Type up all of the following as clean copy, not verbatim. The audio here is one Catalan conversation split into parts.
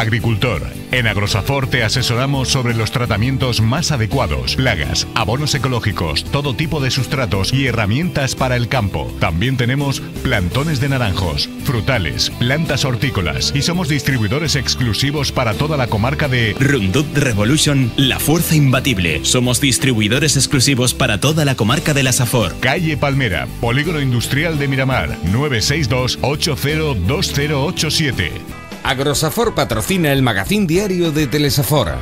Agricultor. En Agrosafor te asesoramos sobre los tratamientos más adecuados, plagas, abonos ecológicos, todo tipo de sustratos y herramientas para el campo. También tenemos plantones de naranjos, frutales, plantas hortícolas y somos distribuidores exclusivos para toda la comarca de Roundup Revolution, la fuerza imbatible. Somos distribuidores exclusivos para toda la comarca de la Safor. Calle Palmera, Polígono Industrial de Miramar, 962-802087. Agrosafor patrocina el magazín diario de Telesafor.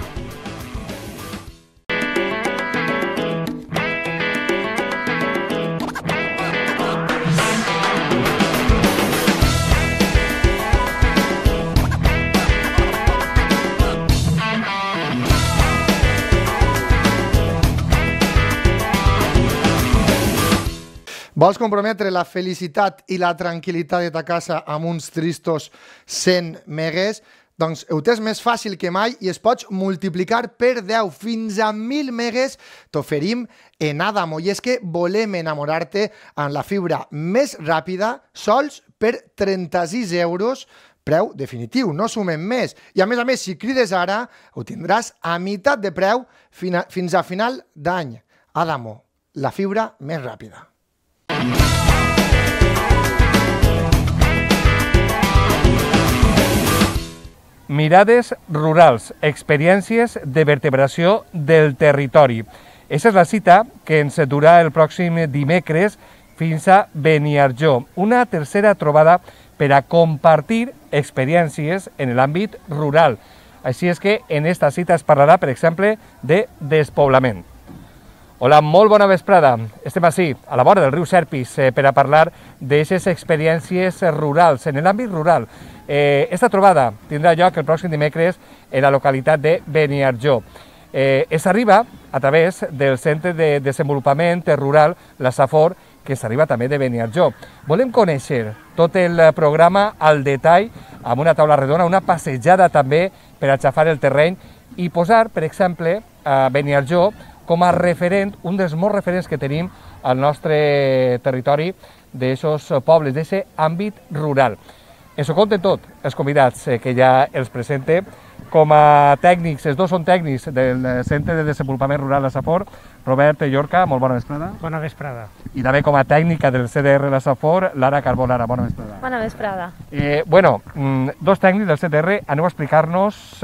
Vols comprometre la felicitat i la tranquil·litat de ta casa amb uns tristos 100 megues? Doncs ho tens més fàcil que mai i es pots multiplicar per 10 fins a 1.000 megues t'oferim en Adamo. I és que volem enamorar-te amb la fibra més ràpida sols per 36 euros, preu definitiu, no sumem més. I a més, si crides ara, ho tindràs a meitat de preu fins a final d'any. Adamo, la fibra més ràpida. Mirades rurals, experiències de vertebració del territori. Aquesta és la cita que ens durà el pròxim dimecres fins a Beniarjó, una tercera trobada per a compartir experiències en l'àmbit rural. Així és que en esta cita es parlarà, per exemple, de despoblament. Hola, molt bona vesprada. Estem ací, a la vora del riu Serpis, per a parlar d'aquestes experiències rurals, en l'àmbit rural. Esta trobada tindrà lloc el pròxim dimecres en la localitat de Beniarjó. S'arriba a través del Centre de Desenvolupament Rural, la Safor, que s'arriba també de Beniarjó. Volem conèixer tot el programa al detall, amb una taula redona, una passejada també per a xafar el terreny i posar, per exemple, a Beniarjó com a referent, un dels molts referents que tenim al nostre territori d'aquests pobles, d'aquest àmbit rural. Ens ho compten tot els convidats que ja els presente. Com a tècnics, els dos són tècnics del Centre de Desenvolupament Rural La Safor. Robert Llorca, molt bona vesprada. Bona vesprada. I també com a tècnica del CDR La Safor, Lara Carbó. Lara, bona vesprada. Bona vesprada. Dos tècnics del CDR, aneu a explicar-nos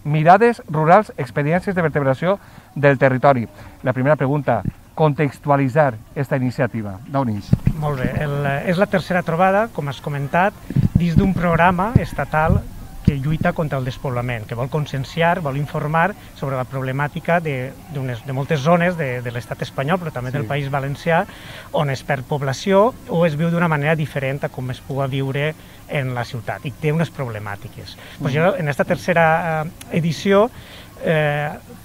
mirades rurals, experiències de vertebració del territori. La primera pregunta, contextualitzar aquesta iniciativa. D'on és? Molt bé. És la tercera trobada, com has comentat, dins d'un programa estatal que lluita contra el despoblament, que vol conscienciar, vol informar sobre la problemàtica de moltes zones de l'estat espanyol, però també del País Valencià, on es perd població o es viu d'una manera diferent a com es pugui viure en la ciutat, i té unes problemàtiques. En aquesta tercera edició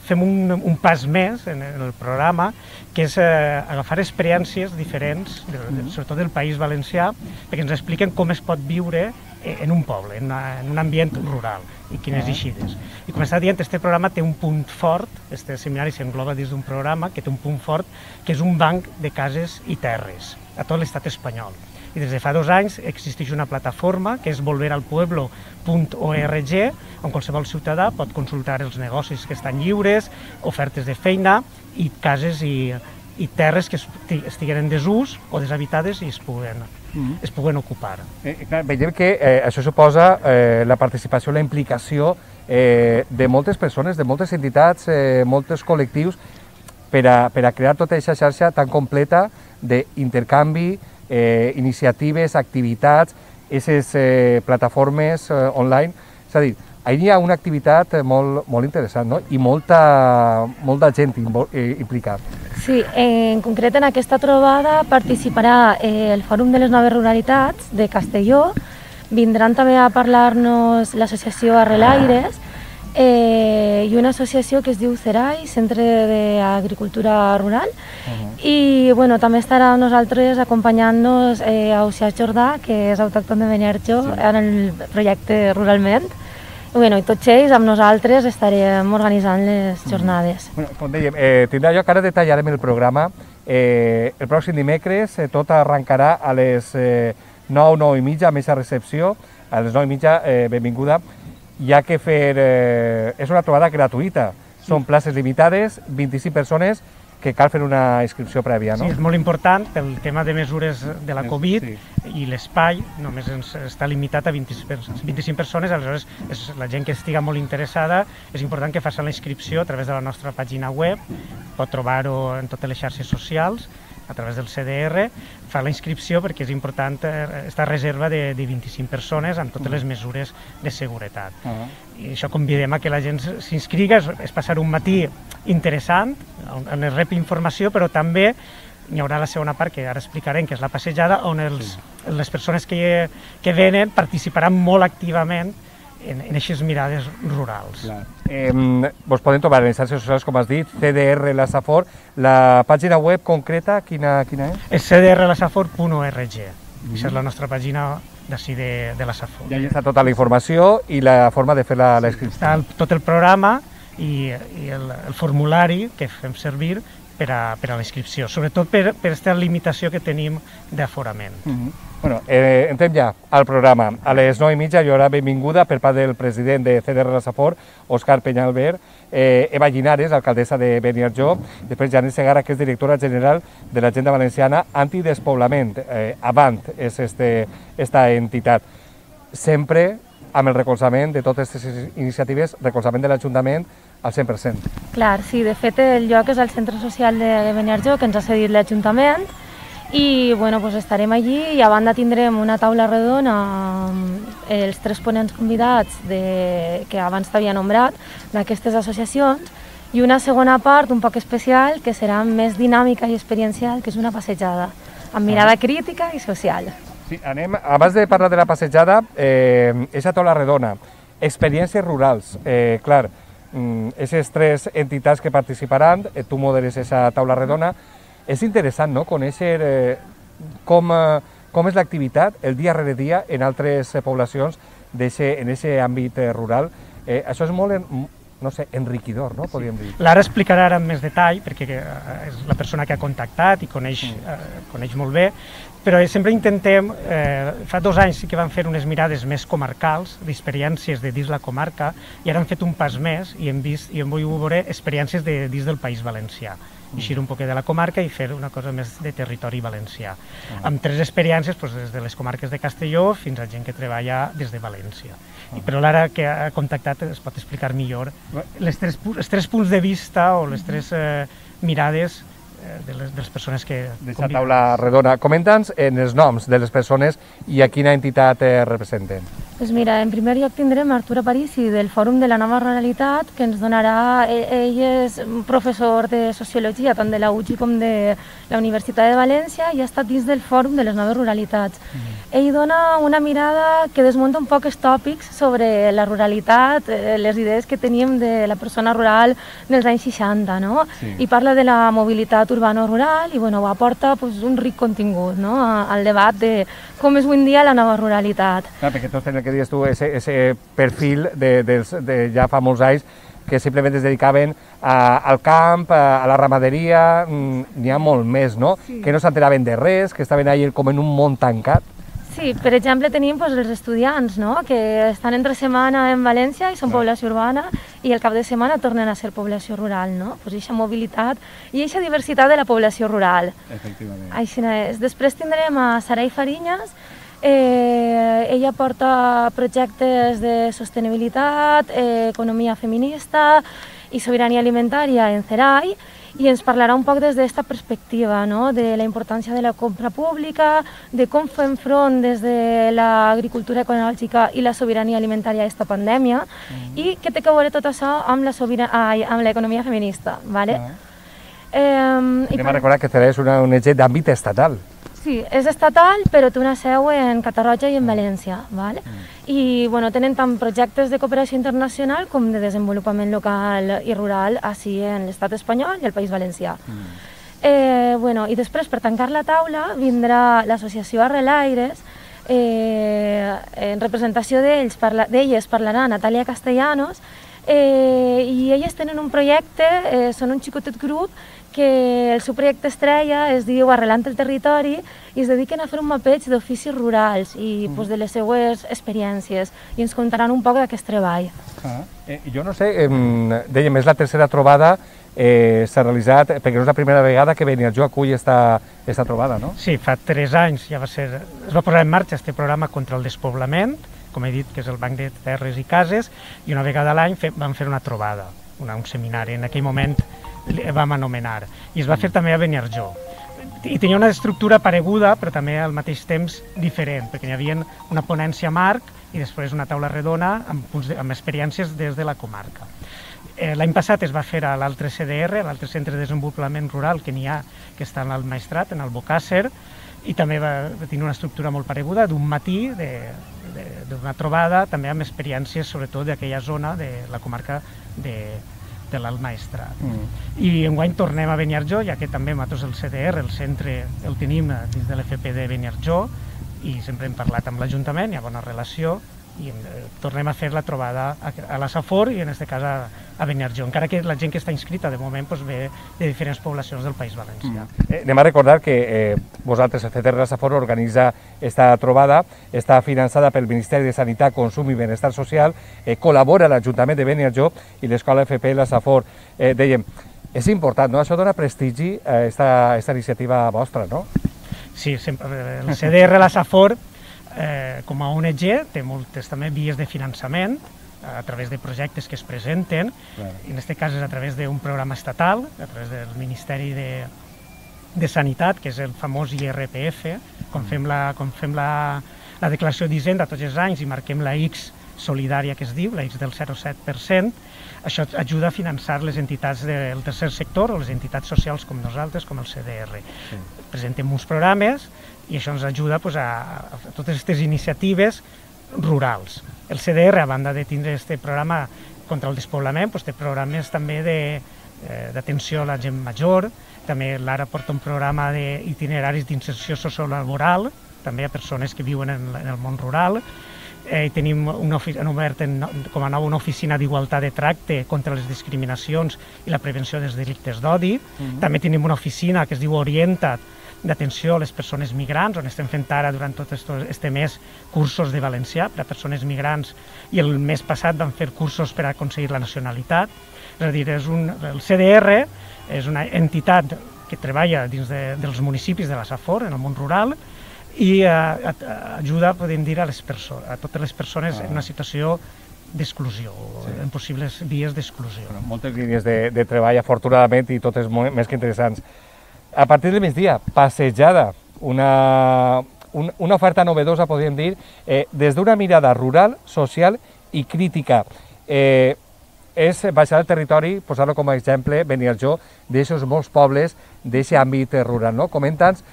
fem un pas més en el programa, que és agafar experiències diferents, sobretot del País Valencià, perquè ens expliquen com es pot viure en un poble, en un ambient rural, i quines eixides. I com estava dient, aquest programa té un punt fort, aquest seminari s'engloba dins d'un programa que té un punt fort, que és un banc de cases i terres a tot l'estat espanyol. I des de fa 2 anys existeix una plataforma que és volveralpueblo.org, on qualsevol ciutadà pot consultar els negocis que estan lliures, ofertes de feina i cases i terres que estiguen en desús o deshabitades i es puguen ocupar. Veiem que això suposa la participació, la implicació de moltes persones, de moltes entitats, molts col·lectius, per a crear tota aquesta xarxa tan completa d'intercanvi, iniciatives, activitats, aquestes plataformes online. És a dir, hi ha una activitat molt interessant, no? I molta gent implicada. Sí, en concret en aquesta trobada participarà el Fòrum de les Noves Ruralitats de Castelló, vindran també a parlar-nos l'associació Arrelaires i una associació que es diu CERAI, Centre d'Agricultura Rural, i també estarà amb nosaltres acompanyant-nos Ausiàs Jordà, que és autòcton de Beniarjó, en el projecte Ruralment. I tots ells, amb nosaltres, estarem organitzant les jornades. Com dèiem, tindrà lloc, ara detallarem el programa. El pròxim dimecres tot arrencarà a les 9:30, a més a recepció, a les 9:30, benvinguda. hi ha que fer... és una trobada gratuïta, són places limitades, 25 persones, que cal fer una inscripció prèvia, no? Sí, és molt important pel tema de mesures de la Covid i l'espai només està limitat a 25 persones, aleshores la gent que estiga molt interessada és important que faci la inscripció a través de la nostra pàgina web, pot trobar-ho en totes les xarxes socials, a través del CDR, fa la inscripció perquè és important esta reserva de 25 persones amb totes les mesures de seguretat. I això convidem a que la gent s'inscriga, és passar un matí interessant, on es rep informació, però també hi haurà la segona part, que ara explicarem, que és la passejada, on les persones que venen participaran molt activament en aquestes mirades rurals. Vos podem trobar en les xarxes socials, com has dit, CDR La Safor. La pàgina web concreta, quina és? És cdrlasafor.org. Aquesta és la nostra pàgina d'ací de la Safor. I allà està tota la informació i la forma de fer la inscripció. Està tot el programa i el formulari que fem servir per a la inscripció, sobretot per aquesta limitació que tenim d'aforament. Bueno, entrem ja al programa. A les 9:30 hi haurà benvinguda per part del president de CDR La Safor, Òscar Peñalver, Eva Llinares, alcaldessa de Beniarjó, després Janet Segarra, que és directora general de l'Agenda Valenciana Antidespoblament. Avant és esta entitat. Sempre amb el recolzament de totes aquestes iniciatives, recolzament de l'Ajuntament al 100%. Clar, sí, de fet el lloc és el centre social de Beniarjó, que ens ha cedit l'Ajuntament, i bueno, pues estarem allí i a banda tindrem una taula redona amb els 3 ponents convidats que abans t'havia nombrat d'aquestes associacions i una segona part un poc especial que serà més dinàmica i experiencial, que és una passejada amb mirada crítica i social. Sí, abans de parlar de la passejada, aquesta taula redona, experiències rurals, clar, aquestes 3 entitats que participaran, tu moderes aquesta taula redona. És interessant, no?, conèixer com és l'activitat el dia rere dia en altres poblacions en aquest àmbit rural. Això és molt, no sé, enriquidor, no?, podríem dir. Lara explicarà ara amb més detall, perquè és la persona que ha contactat i coneix molt bé, però sempre intentem, fa 2 anys sí que vam fer unes mirades més comarcals, d'experiències de dins la comarca, i ara hem fet un pas més i hem volgut veure experiències de dins del País Valencià. Eixir un poquet de la comarca i fer una cosa més de territori valencià. Amb 3 experiències, des de les comarques de Castelló fins a gent que treballa des de València. Però l'ara que ha contactat es pot explicar millor els 3 punts de vista o les 3 mirades de les persones que... D'aquesta taula redona. Comenta'ns els noms de les persones i a quina entitat representen. Doncs mira, en primer lloc tindrem Artur Aparici del Fòrum de la Nova Ruralitat, que ens donarà... Ell és professor de Sociologia, tant de la UGI com de la Universitat de València, i ha estat dins del Fòrum de les Noves Ruralitats. Ell dona una mirada que desmunta un poc els tòpics sobre la ruralitat, les idees que teníem de la persona rural dels anys 60, no? I parla de la mobilitat urbano-rural i ho aporta un ric contingut al debat de com és avui en dia la nova ruralitat. Perquè tots tenen, que dius tu, ese perfil de ja fa molts anys que simplement es dedicaven al camp, a la ramaderia, n'hi ha molt més, no? Que no s'enteraven de res, que estaven allà com en un món tancat. Sí, per exemple tenim els estudiants, que estan entre setmana en València i són població urbana i el cap de setmana tornen a ser població rural, no? Aquesta mobilitat i aquesta diversitat de la població rural. Efectivament. Així és. Després tindrem a Sarai Fariñas. Ella porta projectes de sostenibilitat, economia feminista i sobirania alimentària en CERAI, i ens parlarà un poc des d'aquesta perspectiva, de la importància de la compra pública, de com fem front des de l'agricultura ecològica i la sobirania alimentària a aquesta pandèmia, i què té a veure tot això amb l'economia feminista. Anem a recordar que CERAI és un ONG d'àmbit estatal. Sí, és estatal, però té una seu en Catarroja i en València. I tenen tant projectes de cooperació internacional com de desenvolupament local i rural així en l'estat espanyol i el País Valencià. I després, per tancar la taula, vindrà l'associació Arrelaires. En representació d'elles parlarà Natàlia Castellanos, i elles tenen un projecte, són un xicotet grup, que el seu projecte estrella es diu Arrelant el territori i es dediquen a fer un mapeig d'oficis rurals i de les seues experiències i ens contaran un poc d'aquest treball. Jo no sé, dèiem, és la tercera trobada, s'ha realitzat, perquè no és la primera vegada que Beniarjó acull esta trobada, no? Sí, fa 3 anys es va posar en marxa aquest programa contra el despoblament, com he dit, que és el Banc de Terres i Cases, i una vegada a l'any vam fer una trobada, un seminari, en aquell moment vam anomenar, i es va fer també a Beniarjó. I tenia una estructura pareguda, però també al mateix temps diferent, perquè hi havia una ponència marc i després una taula redona amb experiències des de la comarca. L'any passat es va fer a l'altre CDR, l'altre Centre de Desenvolupament Rural que n'hi ha, que està al Maestrat, en el Bocàsser, i també va tenir una estructura molt pareguda, d'un matí, d'una trobada, també amb experiències sobretot d'aquella zona de la comarca de l'Alt Maestrat. I enguany tornem a Beniarjó, ja que també nosaltres el CDR, el centre, el tenim dins de l'FP de Beniarjó i sempre hem parlat amb l'Ajuntament, hi ha bona relació i tornem a fer la trobada a la Safor i en aquest cas a Beniarjó, encara que la gent que està inscrita de moment ve de diferents poblacions del País Valencià. Anem a recordar que vosaltres, el CDR La Safor, organitza esta trobada, està finançada pel Ministeri de Sanitat, Consum i Benestar Social, col·labora l'Ajuntament de Beniarjó i l'Escola FP La Safor. Dèiem, és important, no? Això dona prestigi a aquesta iniciativa vostra, no? Sí, el CDR La Safor, com a ONG, té moltes també vies de finançament a través de projectes que es presenten, i en aquest cas és a través d'un programa estatal, a través del Ministeri de Sanitat, que és el famós IRPF, quan fem la declaració d'Hisenda tots els anys i marquem la X solidària que es diu, la X del 0,7%, això ajuda a finançar les entitats del tercer sector o les entitats socials com nosaltres, com el CDR. Presentem uns programes i això ens ajuda a totes aquestes iniciatives rurals. El CDR, a banda de tindre aquest programa contra el despoblament, té programes també d'atenció a la gent major, també l'ara porta un programa d'itineraris d'inserció sociolaboral, també a persones que viuen en el món rural, tenim obert com a nou una oficina d'igualtat de tracte contra les discriminacions i la prevenció dels delictes d'odi, també tenim una oficina que es diu Orienta't, d'atenció a les persones migrants, on estem fent ara durant tot aquest mes cursos de valencià per a persones migrants i el mes passat vam fer cursos per a aconseguir la nacionalitat. És a dir, el CDR és una entitat que treballa dins dels municipis de la Safor, en el món rural, i ajuda, podem dir, a totes les persones en una situació d'exclusió, en possibles vies d'exclusió. Moltes línies de treball, afortunadament, i totes més que interessants. A partir del migdia, passejada, una oferta novedosa, podríem dir, des d'una mirada rural, social i crítica. És baixar el territori, posar-lo com a exemple, Beniarjó, d'aixòs molts pobles, d'aquest àmbit rural, no? Comenta'ns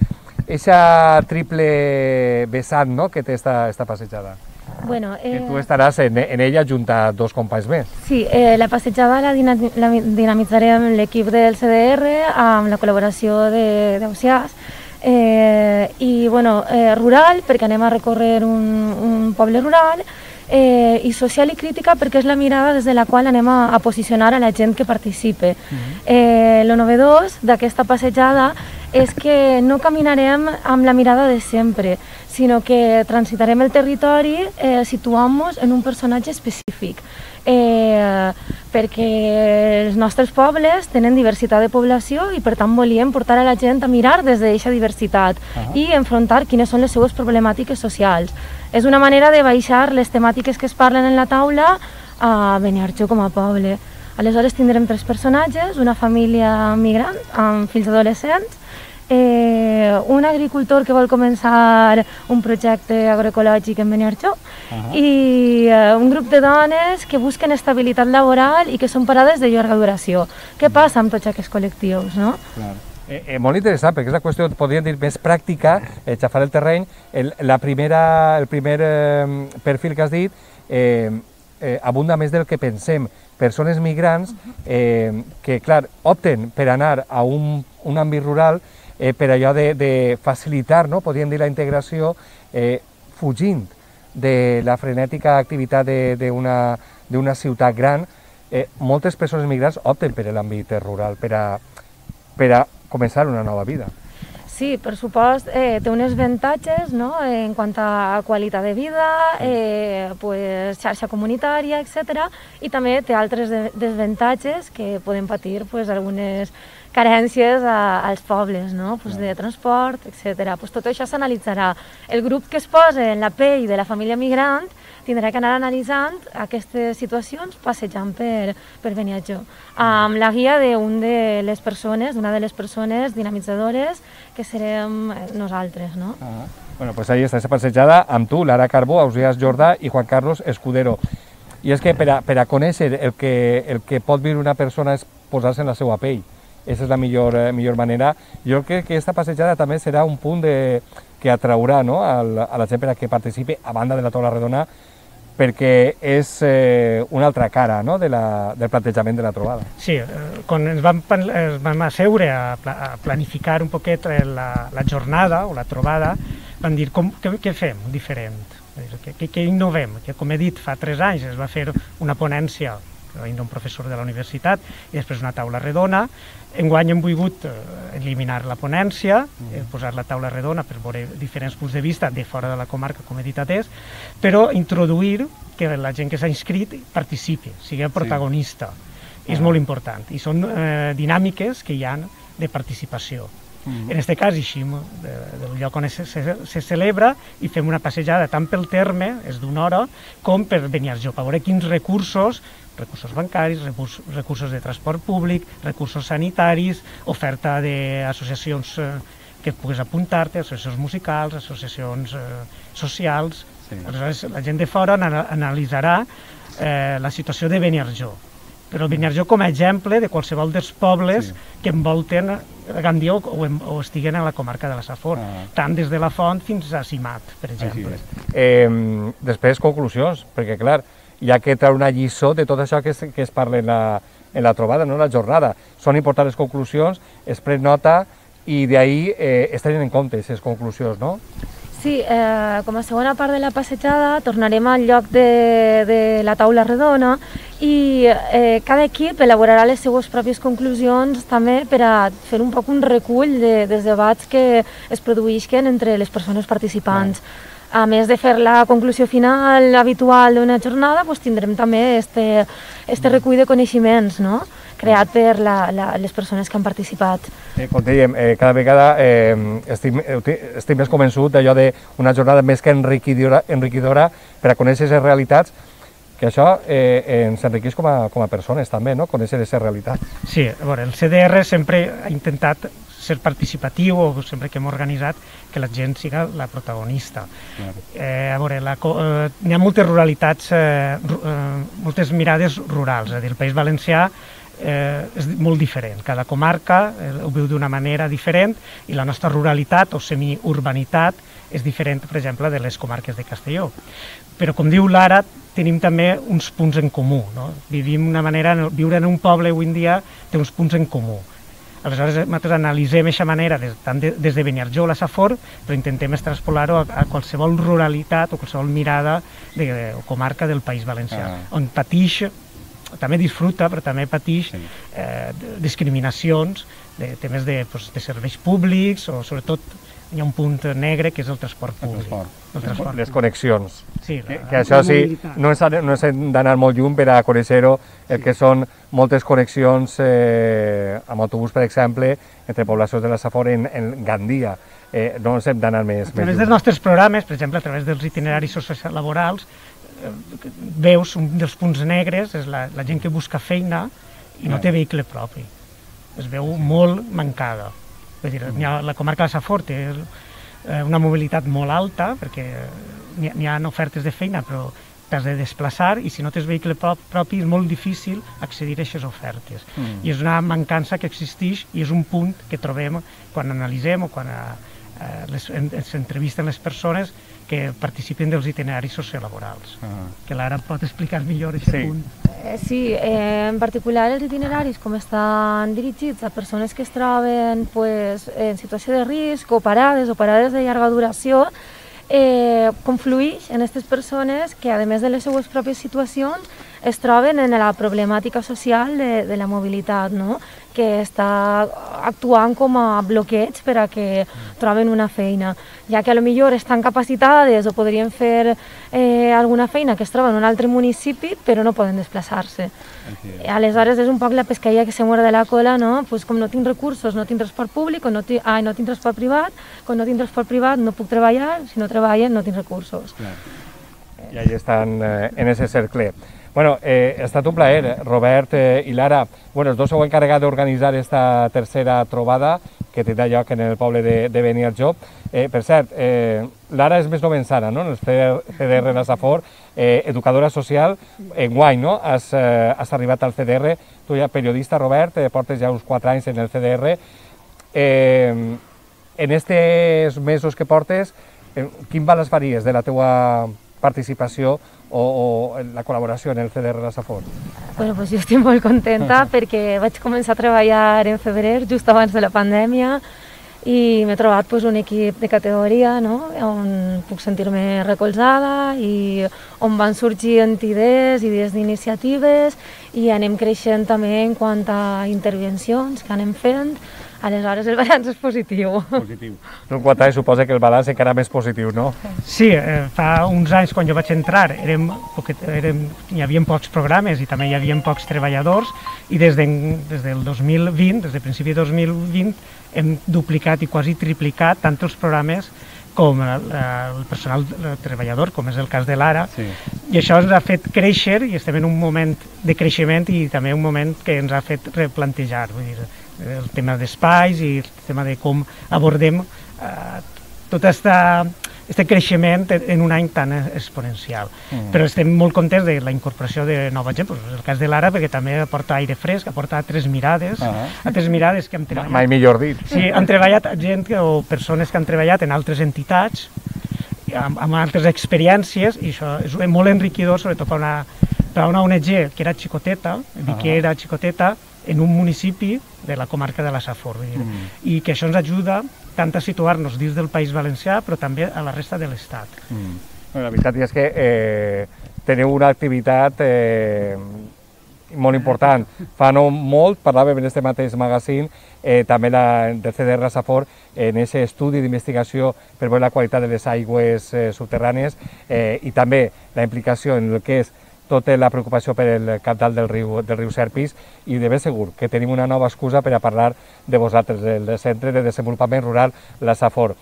aquesta triple vessant que té esta passejada. Bueno, que tu estaràs en ella junt a 2 companys més. Sí, la passejada la dinamitzarem amb l'equip del CDR, amb la col·laboració d'Ausiàs, i rural, perquè anem a recórrer un poble rural, i social i crítica perquè és la mirada des de la qual anem a posicionar a la gent que participe. Lo novedós d'aquesta passejada és que no caminarem amb la mirada de sempre, sinó que transitarem el territori situant-nos en un personatge específic, perquè els nostres pobles tenen diversitat de població i per tant volíem portar a la gent a mirar des d'aquesta diversitat i enfrontar quines són les seues problemàtiques socials. És una manera de baixar les temàtiques que es parlen en la taula a Beniarjó com a poble. Aleshores tindrem 3 personatges, una família migrant amb fills adolescents, un agricultor que vol començar un projecte agroecològic en Beniarjó i un grup de dones que busquen estabilitat laboral i que són parades de llarga duració. Què passa amb tots aquests col·lectius, no? Molt interessant, perquè és una qüestió, podríem dir, més pràctica, xafar el terreny. El primer perfil que has dit abunda més del que pensem. Persones migrants que, clar, opten per anar a un àmbit rural per allò de facilitar, podríem dir, la integració, fugint de la frenètica activitat d'una ciutat gran moltes persones migrants opten per l'àmbit rural, per a començar una nova vida. Sí, per supost, té uns avantatges, no?, en quant a qualitat de vida, pues, xarxa comunitària, etc. I també té altres desavantatges que poden patir pues, algunes carències als pobles, no?, pues, de transport, etc. Pues, tot això s'analitzarà. El grup que es posa en la pell de la família migrant tindrà que anar analitzant aquestes situacions passejant per Beniarjó, amb la guia d'una de les persones dinamitzadores que serem nosaltres, no? Bueno, pues ahí està aquesta passejada amb tu, Lara Carbó, Ausiàs Jordà i Juan Carlos Escudero. I és que per a conèixer el que pot viure una persona és posar-se en la seva pell. Aquesta és la millor manera. Jo crec que aquesta passejada també serà un punt que atraurà, no?, a la gent per a que participi a banda de la taula redona, perquè és una altra cara, no?, del plantejament de la trobada. Sí, quan ens vam asseure a planificar un poquet la jornada o la trobada, vam dir què fem diferent, què innovem, que com he dit fa 3 anys es va fer una ponència d'un professor de la universitat i després una taula redona. Enguany hem volgut eliminar la ponència, posar la taula redona per veure diferents punts de vista de fora de la comarca, com he dit atès, però introduir que la gent que s'ha inscrit participi, sigui protagonista. És molt important i són dinàmiques que hi ha de participació. En aquest cas, així, del lloc on se celebra, i fem una passejada tant pel terme, és d'una hora, com per Beniarjó, per veure quins recursos bancaris, recursos de transport públic, recursos sanitaris, oferta d'associacions que puguis apuntar-te, associacions musicals, associacions socials. Aleshores, la gent de fora analitzarà la situació de Beniarjó, però Beniarjó com a exemple de qualsevol dels pobles que envolten Gandia o estiguen a la comarca de la Safor, tant des de la Font fins a Simat, per exemple. Després, conclusions, perquè clar, hi ha que treure una lliçó de tot això que es parla en la trobada, no en la jornada. Són importants les conclusions, es pren nota i d'ahir es tenen en compte aquestes conclusions, no? Sí, com a segona part de la passejada tornarem al lloc de la taula redona i cada equip elaborarà les seues pròpies conclusions també per a fer un poc un recull dels debats que es produïsquen entre les persones participants. A més de fer la conclusió final habitual d'una jornada, tindrem també este recull de coneixements, no?, creat per les persones que han participat. Com dèiem, cada vegada estic més convençut d'allò d'una jornada més que enriquidora per a conèixer les realitats, que això ens enriqueix com a persones també, no?, conèixer aquesta realitat. Sí, a veure, el CDR sempre ha intentat ser participatiu, o sempre que hem organitzat, que la gent siga la protagonista. A veure, hi ha moltes ruralitats, moltes mirades rurals, és a dir, el País Valencià és molt diferent, cada comarca ho viu d'una manera diferent i la nostra ruralitat o semiurbanitat és diferent, per exemple, de les comarques de Castelló. Però, com diu Lara, tenim també uns punts en comú, no? Viure en un poble avui en dia té uns punts en comú. Aleshores, nosaltres analitzem aquesta manera tant des de Beniarjó a la Safor, però intentem extrapolar-ho a qualsevol ruralitat o qualsevol mirada o comarca del País Valencià, on patix, també disfruta, però també patix discriminacions de temes de serveis públics, o sobretot hi ha un punt negre que és el transport públic. Les connexions. Sí, que això sí, no ens hem d'anar molt lluny per a conèixer-ho, el que són moltes connexions amb autobús, per exemple, entre poblacions de la Safor en Gandia. No ens hem d'anar més lluny. A través dels nostres programes, per exemple, a través dels itineraris sociolaborals, veus un dels punts negres, és la gent que busca feina i no té vehicle propi. Es veu molt mancada. La comarca de la Safor té una mobilitat molt alta, perquè n'hi ha ofertes de feina, però t'has de desplaçar i si no tens vehicle propi és molt difícil accedir a aquestes ofertes. I és una mancança que existeix i és un punt que trobem quan analitzem o quan s'entrevisten les persones que participen dels itineraris sociolaborals. Que l'Ara pot explicar millor aquest punt. Sí, en particular els itineraris, com estan dirigits a persones que es troben en situació de risc o parades de llarga duració, conflueix en aquestes persones que, a més de les seues pròpies situacions, es troben en la problemàtica social de la mobilitat, no? Que està actuant com a bloqueig per a que troben una feina, ja que potser estan capacitades o podrien fer alguna feina que es troba en un altre municipi, però no poden desplaçar-se. Aleshores és un poc la pescaia que se muerde la cola, no? Pues com no tinc recursos, no tinc transport públic, no tinc transport privat, com no tinc transport privat no puc treballar, si no treballo no tinc recursos. I ahí estan en ese cercle. Bueno, ha estat un plaer, Robert i Lara. Bueno, els dos s'heu encarregat d'organitzar esta tercera trobada que tindrà lloc en el poble de Beniarjó. Per cert, Lara és més novençana, no?, en el CDR La Safor, educadora social, enguany, no?, has arribat al CDR, tu ja periodista, Robert, portes ja uns 4 anys en el CDR. En aquests mesos que portes, quin balanç faries de la teua participació o la col·laboració en el CDR La Safor? Bueno, pues jo estic molt contenta perquè vaig començar a treballar en febrer, just abans de la pandèmia, i m'he trobat pues, un equip de categoria, no?, on puc sentir-me recolzada i on van sorgint idees d'iniciatives i anem creixent també en quant a intervencions que anem fent. Aleshores, el balanç és positiu. Positiu. En quant a suposa que el balanç encara més positiu, no? Sí, fa uns anys, quan jo vaig entrar, hi havia pocs programes i també hi havia pocs treballadors, i des del 2020, des del principi de 2020, hem duplicat i quasi triplicat tant els programes com el personal treballador, com és el cas de l'Ara, i això ens ha fet créixer i estem en un moment de creixement i també un moment que ens ha fet replantejar, vull dir, el tema d'espais i el tema de com abordem tot aquest creixement en un any tan exponencial. Però estem molt contents de la incorporació de nova gent, és el cas de l'Ara, perquè també aporta aire fresc, aporta altres mirades que hem treballat. Mai millor dit. Sí, han treballat gent o persones que han treballat en altres entitats, amb altres experiències, i això és molt enriquidor, sobretot per a una ONG que era xicoteta, que era xicoteta, en un municipi de la comarca de la Safor, i que això ens ajuda tant a situar-nos dins del País Valencià, però també a la resta de l'Estat. La veritat és que teniu una activitat molt important. Fa no molt, parlàvem en aquest mateix magazín, també del CDR La Safor, en aquest estudi d'investigació per veure la qualitat de les aigües subterrànies i també la implicació en el que és tota la preocupació per el cabdal del riu Serpis, i de ben segur que tenim una nova excusa per a parlar de vosaltres, el Centre de Desenvolupament Rural La Safor.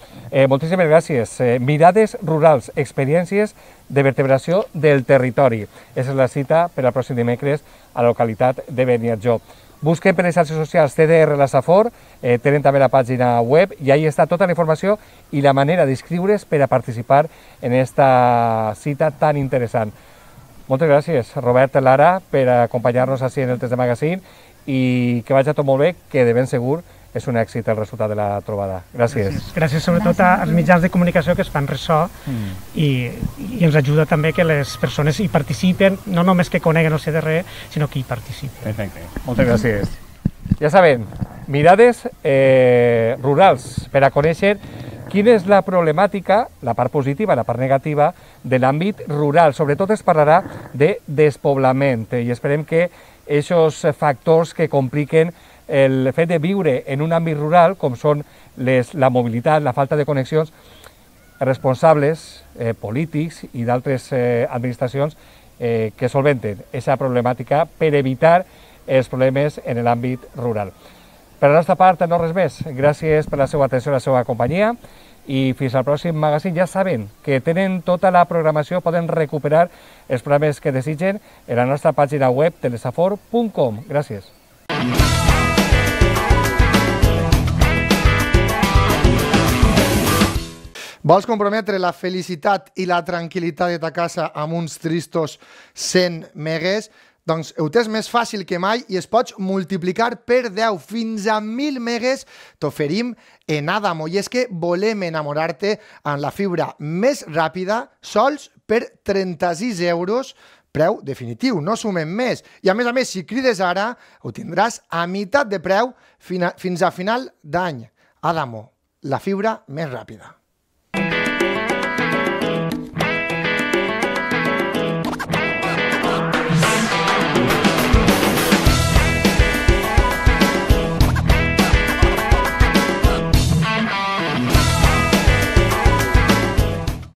Moltíssimes gràcies. Mirades rurals, experiències de vertebració del territori. Aquesta és la cita per al pròxim dimecres a la localitat de Beniarjó. Busquen per les xarxes socials CDR La Safor, tenen també la pàgina web i ahí està tota la informació i la manera d'inscriure's per a participar en aquesta cita tan interessant. Moltes gràcies, Robert, Lara, per acompanyar-nos així en el Test de Magazine i que vagi tot molt bé, que de ben segur és un èxit el resultat de la trobada. Gràcies. Gràcies sobretot als mitjans de comunicació que es fan ressò i ens ajuda també que les persones hi participen, no només que coneguen el CDR, sinó que hi participen. Perfecte. Moltes gràcies. Ja saben, mirades rurals per a conèixer quina és la problemàtica, la part positiva, la part negativa, de l'àmbit rural. Sobretot es parlarà de despoblament i esperem que aquests factors que compliquen el fet de viure en un àmbit rural, com són la mobilitat, la falta de connexions, responsables polítics i d'altres administracions que solventen aquesta problemàtica per evitar els problemes en l'àmbit rural. Per la nostra part, no res més. Gràcies per la seva atenció i la seva companyia i fins al pròxim magazín. Ja saben que tenen tota la programació, poden recuperar els programes que desitgen en la nostra pàgina web telesafor.com. Gràcies. Vols comprometre la felicitat i la tranquil·litat de ta casa amb uns tristos 100 megues? Doncs ho tens més fàcil que mai i es pots multiplicar per 10 fins a 1.000 megues t'oferim en Adamo. I és que volem enamorar-te amb la fibra més ràpida sols per 36 euros, preu definitiu, no sumem més. I a més, si crides ara, ho tindràs a meitat de preu fins a final d'any. Adamo, la fibra més ràpida.